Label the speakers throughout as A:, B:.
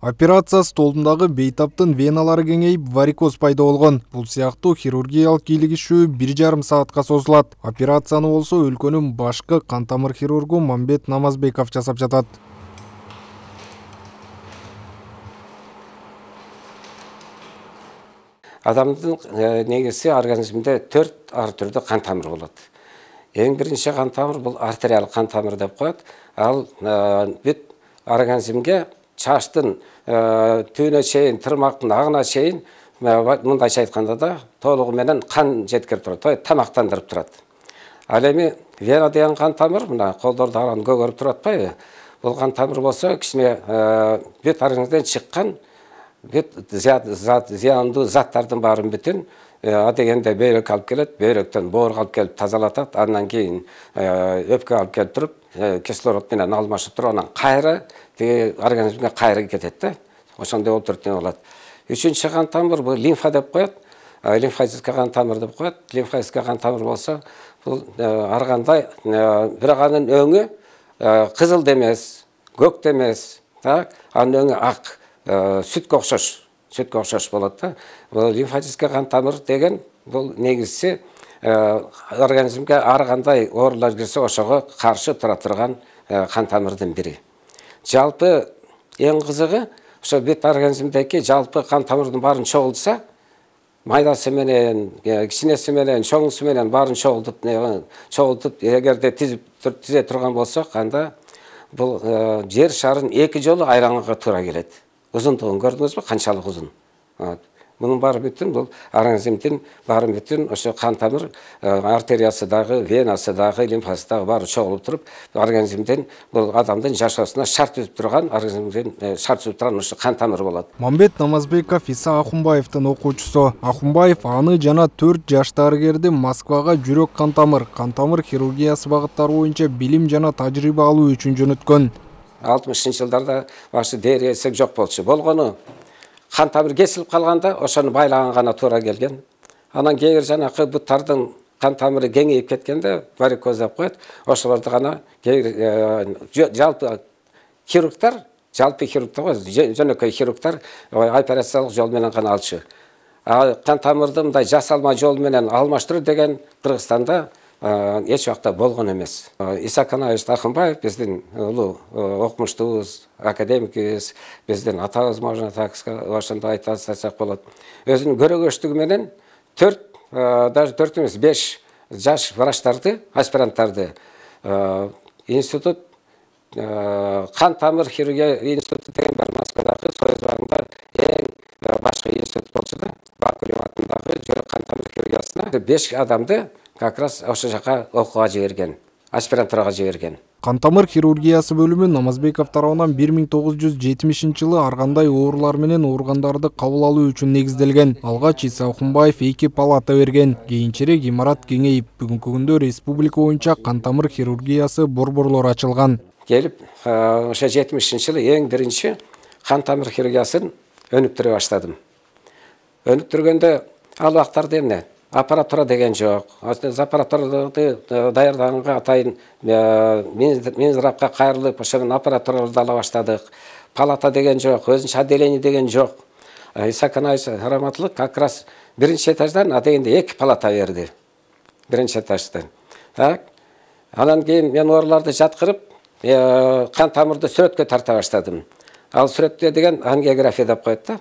A: Операция столундагы бейтаптын веналары кеңейип, варикоз пайда болгон. Бул сыяктуу хирургиялык кийлигишүү 1,5 саатка созулат. Операцияны болсо өлкөнүн башкы кан тамыр хирургу Мамбет Намазбеков жасап жатат.
B: Адамдын негизи организмде 4 ар түрдүү кан тамыры болот. Эң биринчи кан тамыр бул артериалдык кан тамыр деп коет. Ал бүт организмге чачтын түйүнө чейин, тырмактын агына чейин мындайча айтканда да толугу менен кан жеткирип турат, тамактандырып турат. Ал эми вена деген кан тамыр, мына колдорду аран көгөрүп туруп атпайбы? Бул кан тамыр болсо кичине бүт организмден чыккан бүт зыяндуу заттардын баарын бүтүн адегенде бөйрөккө алып келет, бөйрөктөн боорго алып келип тазалатат, андан кийин өпкөгө алып келип туруп, кислород менен алмашып туруп, анан кайра организмге кайра кетет да. Ошондой болуп туруп болот. Үчүнчү кан тамыр бул лимфа деп коет. Лимфатический кан тамыр деп коет. Лимфатический кан тамыр болсо бул ар кандай бирок анын өңү кызыл да эмес, көк да эмес, так? Анын өңү ак, сүткө окшош болот да. Бул лимфатический кан тамыр деген бул негизиси организмге ар кандай оорулар кирсе ошого каршы тура турган кан тамырдын бири. Жалпы эң кызыгы ошо бүт организмдеги жалпы кан тамырдын баарын чогултса, майдасы менен, кичинеси менен, чоңусу менен баарын чогултуп, эгерде тизе турган болсок, анда бул жер шарын 2 жолу айланганга туура келет. Узундугун көрдүңүзбү, канчалык узун? Мунун баары бүтүн бул организмдин баары бүтүн ошо кан тамыр артериясы дагы, венасы дагы, лимфасы дагы баары чогулуп туруп, организмден бул адамдын жашоосуна шарт түзүп турган, организмден шарт түзүп турган ошо кан тамыр болот.
A: Мамбет Намазбеков Иса Ахунбаевдин окуучусу. Ахунбаев аны жана 4 жаш дарыгерди Москвага жүрөк кан тамыр хирургиясы багыттары боюнча билим жана тажрыйба алуу үчүн жөнөткөн.
B: 60-жылдарда башы дээри эсеп жок болчу. Болгону кан тамыр кесилип калганда ошону байлаган гана туура келген. Анан кээ бир жанакы буттардын кан тамыры кеңейип кеткенде варикоз деп коет. Ошолорду гана жалпы хирургтар жөнөкөй хирургтар операциялык жол менен гана алчу. Кан тамырды мындай жасалма жол менен алмаштыруу деген Кыргызстанда эч убакта болгон эмес. Иса Ахунбаев биздин улуу окумуштуубуз, академикибиз, биздин атабыз, можно так ошондой айтсак болот. Өзүнүн көрөгөчтүгү менен 4 эмес 5 жаш врачтарды, аспиранттарды институт кан тамыр хирургия институту деген бар Москвадагы Союз барында эң башкы институт болчу да. Бакулев атындагы жүрөк кан тамыр хирургиясына 5 адамды как раз ошо жака окууга жиберген, аспирантурага жиберген.
A: Кан тамыр хирургиясы бөлүмү Намазбеков тарабынан 1970-жылы ар кандай оорулар менен ооругандарды кабыл алуу үчүн негизделген. Алгач Иса Ахунбаев 2 палата берген. Кийинчерээк имарат кеңейип, бүгүнкү күндө республика боюнча кан тамыр хирургиясы борборлор ачылган.
B: Келип, ошо 70-жылы эң биринчи кан тамыр хирургиясын өнүктүрө баштадым. Өнүктүргөндө ал убактарда эмне? Аппаратура деген жок. Аппаратураны даярдаганга атайын Минздравга кайрылып, ошонун аппаратураларды ала баштадык. Палата деген жок, өзүнчө отделение деген жок. Иса Раматлык как раз биринчи этаждан адегенде 2 палата берди. Биринчи этаждан. Так. Анан кийин мен ооруларды жаткырып, кан тамырды сүрөткө тарта баштадым. Ал сүрөттө деген ангиография деп коет да.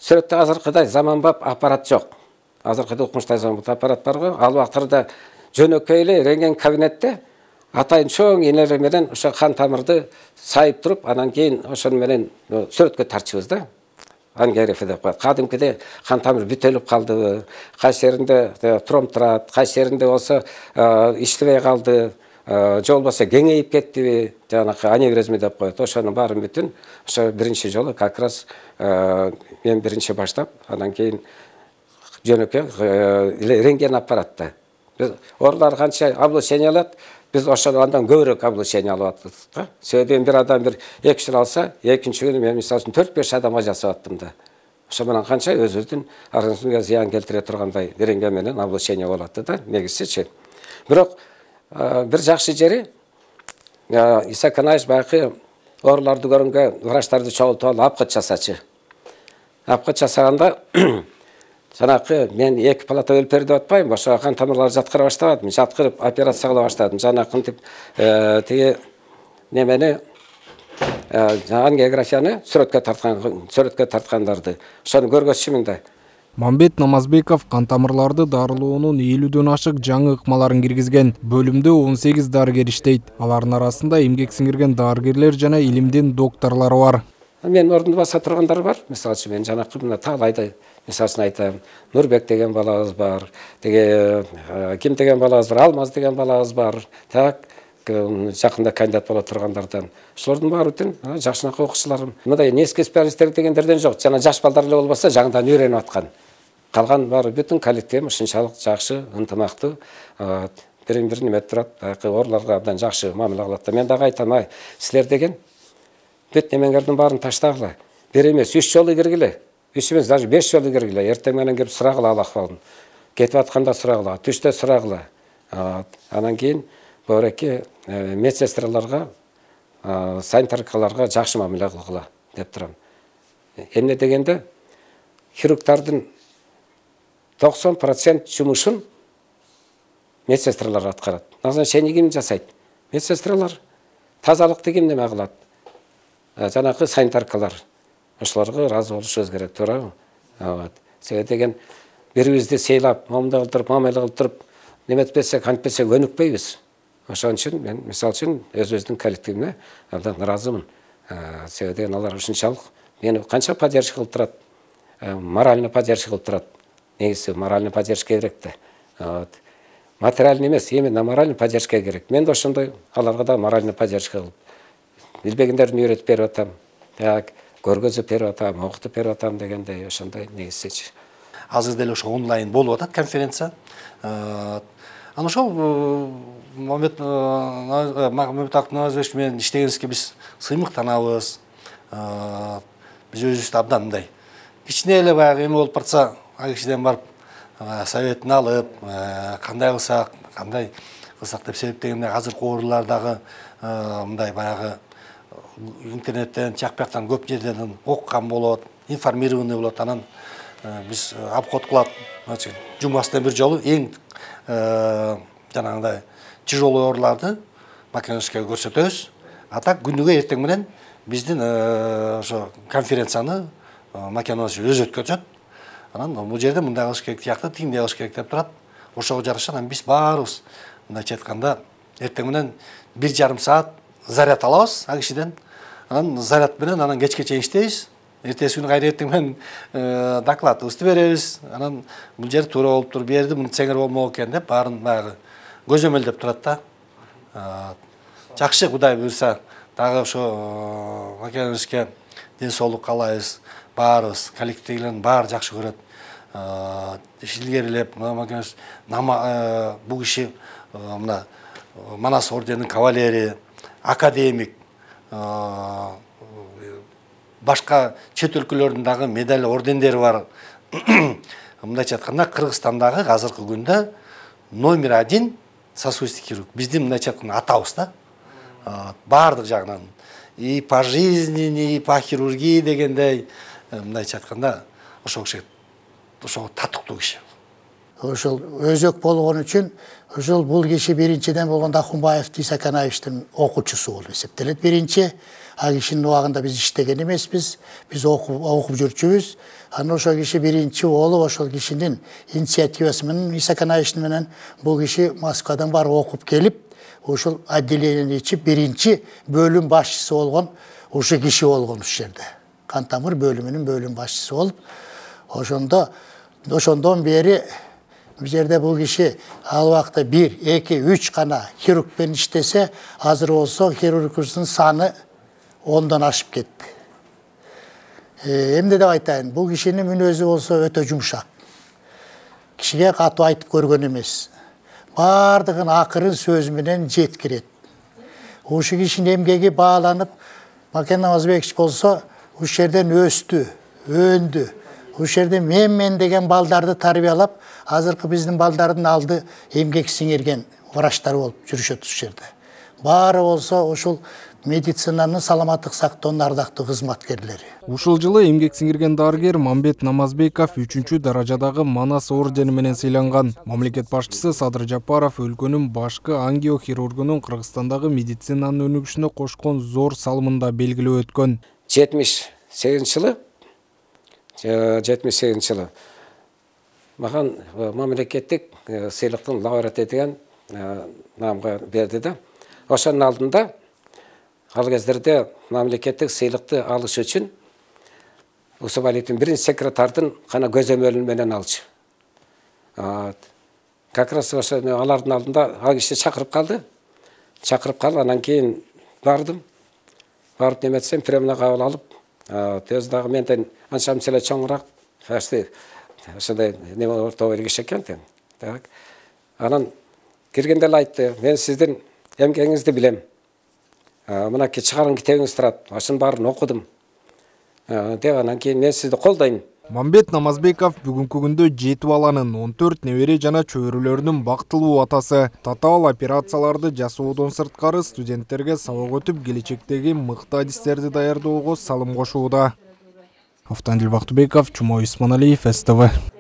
B: Сүрөттө азыркыдай заманбап аппарат жок. Азыркыда укмуштай заманбап аппарат барго. Ал убактарда жөнөкөй эле рентген кабинетте атайын чоң энелер менен ошо кан тамырды сайып туруп, анан кийин ошону менен сүрөткө тартчубуз да. Ангиография деп коет. Кадимкиде кан тамыр бүтөлүп калдыбы, кайсы жеринде тромб турат, кайсы жеринде болсо иштебей калды, же болбосо кеңейип кеттиби, жанакы аневризма деп коет. Ошонун баарын бүтүн ошо биринчи жолу как раз мен биринчи баштап, анан кийин жөнөкөй рентген аппаратта. Биз оорулар канча облучение алат, биз ошону андан көбүрөөк облучение алып аттык. Себеби бир адам 2 жыл алса, экинчи күнү мен мисалы үчүн 4-5 адамга жасап аттым да. Ошо менен канча өзүбүздүн организмге зыян келтире тургандай рентген менен облучение болот да, негизичи. Бирок бир жакшы жери Иса Канаевич баягы ооруларды көргөнгө врачтарды чогултуп алып апкат жасачы. Апкат жасаганда жанакы мен 2 палата өлүп берди деп атпайм, ошо кан тамырлары жаткыра баштадым. Жаткырып операция кыла баштадым. Жанакынтип тиги немени ангиографияны сүрөткө тарткандарды ошону көргөзчүмүн да.
A: Мамбет Намазбеков кан тамырларды дарылоонун 50дөн ашык жаңы ыкмаларын киргизген. Бөлүмдө 18 дарыгер иштейт. Алардын арасында эмгек сиңирген дарыгерлер жана илимдин докторлору бар.
B: Мен ордунду баса тургандар бар. Мисалы үчүн мен жанакы мына Таалайда мисалын айтам. Нурбек деген балабыз бар. Теге ким деген балабыз бар, Алмаз деген балабыз бар. Так жакында кандидат боло тургандардан. Ошолордун баары жакшынакы окуучуларым. Мындай несколько специалисттер дегендерден жок. Жана жаш балдар эле болбосо жаңыдан үйрөнүп аткан. Калган баары бүтүн коллектив ушунчалык жакшы, ынтымактуу, бирин-бирин эметип турат, баягы ооруларга абдан жакшы мамиле кылат. Мен дагы айтам, силер деген бүт немеңердин баарын таштагыла. Бир эмес 3 жолу киргиле. 3 эмес, даже 5 жолу киргиле. Эртең менен кирип сурагыла ал акыбалын. Кетип атканда сурагыла, түштө сурагыла. Анан кийин бөөреки медсестраларга, санитаркаларга жакшы мамиле кылгыла деп турам. Эмне дегенде хирургдардын 90% жумушун медсестралар аткарат. Назначение ким жасайт? Медсестралар. Тазалыкты ким неме кылат? Жанакы санитаркалар. Ошолорго ыраазы болушубуз керек, туурабы? Себеби деген бирибизди сыйлап, мамиле кылдырып, неметпесек, антпесек өнүкпөйбүз. Ошон үчүн мен мисалы үчүн өзүбүздүн коллективиме абдан ыраазымын. Себеби деген алар ушунчалык мени канча поддержка кылып турат, морально поддержка кылып турат. Негизи морально поддержка керек да. Материальный эмес, именно морально поддержка керек. Мен да ошондой аларга да морально поддержка кылып билбегендерин үйрөтүп берип атам. Так, көргөзүп берип атам, окутуп берип атам дегендей ошондой негизичи.
C: Азыр деле ошо онлайн болуп атат конференция. Ана ошол Мамбет Намазбекович менен иштегенибизге биз сыймыктанабыз. Биз өзүбүздү абдан мындай кичине эле баягы эме болуп барса, ал кишиден барып советин алып, кандай кылсак деп себептегенде азыркы оорулар дагы мындай баягы интернеттен, жак бияктан көп жерден окуган болот, информированный болот. Анан биз обход кылып, жумасына бир жолу эң жанагындай тяжелый ооруларды Македонияга көрсөтөбүз. А так күнүгө эртең менен биздин ошо конференцияны Македония өзү өткөзөт. Анан бул жерде мындай кылыш керек, тиякты тигиндей кылыш керек деп турат. Ошого жараша анан биз баарыбыз мындайча айтканда эртең менен 1,5 саат заряд алабыз ал кишиден. Анан заряд менен анан кечке чейин иштейбиз. Эртеси күнү кайра эртең менен докладыбызды беребиз. Анан бул жер туура болуп тур, берди, муну сеңер болмок экен деп баарын баягы көзөмөлдөп турат да. Жакшы, Кудай буйрса, дагы ошо Македонияга ден соолук каалайбыз. Баарыбыз, коллективдегилердин баары жакшы көрөт. Илгерилеп, бул киши мына Манас орденинин кавалери, академик, башка чет өлкөлөрдүн дагы медаль ордендери бар. Мындайча айтканда Кыргызстандагы азыркы күндө номер 1 сосудистый хирург. Биздин мындайча айтканда атабыз да. Баардык жагынан. И по жизни, и по хирургии дегендей, мындайча айтканда ошол киши ошого татыктуу киши.
D: Ошол өзөк болгон үчүн ошол бул киши биринчиден болгондо Ахунбаев Иса Канаевичтин окуучусу болуп эсептелет. Биринчи ал кишинин убагында биз иштеген эмеспиз, биз окуп жүрчүбүз. Анан ошол киши биринчи болуп ошол кишинин инициативасы менен Иса Канаевич менен бул киши Москвадан барып окуп келип, ошол отделениени ичип биринчи бөлүм башчысы болгон ушул киши болгон ушул жерде. Кан тамыр бөлүмүнүн бөлүм башчысы болуп, ошондон бери бул жерде бул киши ал убакта 1, 2, 3 гана хирургмен иштесе, азыр болсо хирургубуздун саны 10дон ашып кетти. Эмне деп айтайын, бул кишинин мүнөзү болсо өтө жумшак. Кишиге катуу айтып көргөн эмес. Бардыгын акырын сөз менен жеткирет. Ушул кишинин эмгеги бааланып, Макен Намазбекович болсо ушул жерден өстү, өндү. Ушул жерде мен деген балдарды тарбиялап, азыркы биздин балдардын алды эмгек сиңирген врачтар болуп жүрүшөт ушул жерде. Баары болсо ушул медицинанын саламаттык сактоонун ардактуу кызматкерлери.
A: Ушул жылы эмгек сиңирген дарыгер Мамбет Намазбеков 3-чү даражадагы Манас ордени менен сыйланган. Мамлекет башчысы Садыр Жапаров өлкөнүн башкы ангиохирургунун Кыргызстандагы медицинанын өнүгүшүнө кошкон зор салымында белгилеп өткөн.
B: 78 жылы маған мамлекеттик сыйлыктын лауреаты деген намга берди да. Ошонун алдында ал кездерде мамлекеттик сыйлыкты алыш үчүн Усубалиевдин биринчи секретардын гана көзөмөлү менен алчу. Как раз ошо алардын алдында ал киши чакырып калды. Чакырып калып, анан кийин бардым. Барып неметсем, премия кабыл алып, өзү дагы менден анча эле чоңураак, ошондой неме орто киши экен. Так. Анан киргенде эле айтты: "Мен сиздин эмгегиңизди билем. Мынакей чыгарган китебиңиз турат. Ошонун баарын окудум." Деп анан кийин мен сизди колдойм.
A: Мамбет Намазбеков бүгүнкү күндө 7 баланын, 14 небере жана чөбөрөлөрүнүн бактылуу атасы. Татаал операцияларды жасоодон сырткары студенттерге сабак өтүп, келечектеги мыкты адистерди даярдоого салым кошууда. Автандил Бактыбеков, Чумой Усманалиев, СТВ.